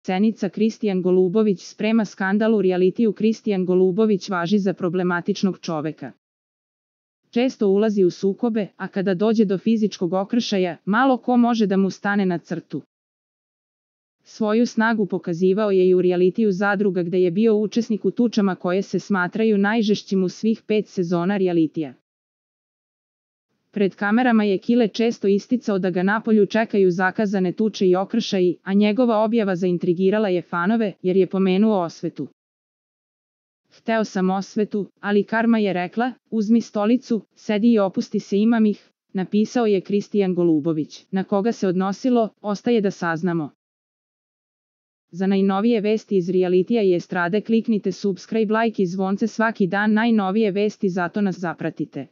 Cenica Kristijan Golubović sprema skandal u realitiju. Kristijan Golubović važi za problematičnog čoveka. Često ulazi u sukobe, a kada dođe do fizičkog okršaja, malo ko može da mu stane na crtu. Svoju snagu pokazivao je i u realitiju Zadruga, gde je bio učesnik u tučama koje se smatraju najžešćim u svih 5 sezona realitija. Pred kamerama je Kile često isticao da ga napolju čekaju zakazane tuče i okršaji, a njegova objava zaintrigirala je fanove, jer je pomenuo osvetu. Hteo sam osvetu, ali karma je rekla, uzmi stolicu, sedi i opusti se, imam ih, napisao je Kristijan Golubović. Na koga se odnosilo, ostaje da saznamo. Za najnovije vesti iz realitija i estrade kliknite subscribe, like i zvonce svaki dan, najnovije vesti, zato nas zapratite.